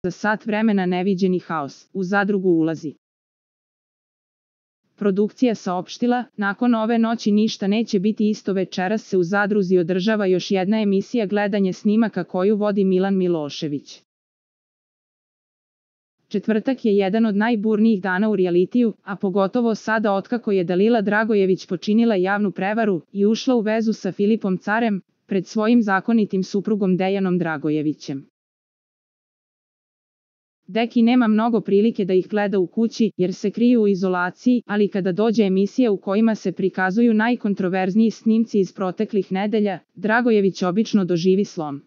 Za sat vremena neviđeni haos. U zadrugu ulazi. Produkcija saopštila, nakon ove noći ništa neće biti isto. Večeras se u zadruzi održava još jedna emisija gledanje snimaka koju vodi Milan Milošević. Četvrtak je jedan od najburnijih dana u rijalitiju, a pogotovo sada otkako je Dalila Dragojević počinila javnu prevaru i ušla u vezu sa Filipom Carem, pred svojim zakonitim suprugom Dejanom Dragojevićem. Deki nema mnogo prilike da ih gleda u kući, jer se kriju u izolaciji, ali kada dođe emisija u kojima se prikazuju najkontroverzniji snimci iz proteklih nedelja, Dragojević obično doživi slom.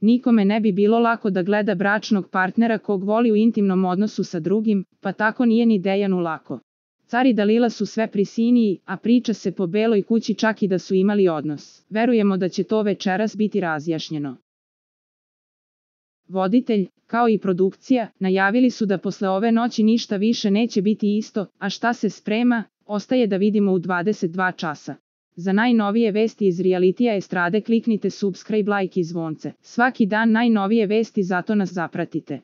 Nikome ne bi bilo lako da gleda bračnog partnera kog voli u intimnom odnosu sa drugim, pa tako nije ni Dejanu lako. Car i Dalila su sve prisiniji, a priča se po beloj kući čak i da su imali odnos. Verujemo da će to večeras biti razjašnjeno. Voditelj, kao i produkcija, najavili su da posle ove noći ništa više neće biti isto, a šta se sprema, ostaje da vidimo u 22 časa. Za najnovije vesti iz realitija estrade kliknite subscribe, like i zvonce. Svaki dan najnovije vesti, zato nas zapratite.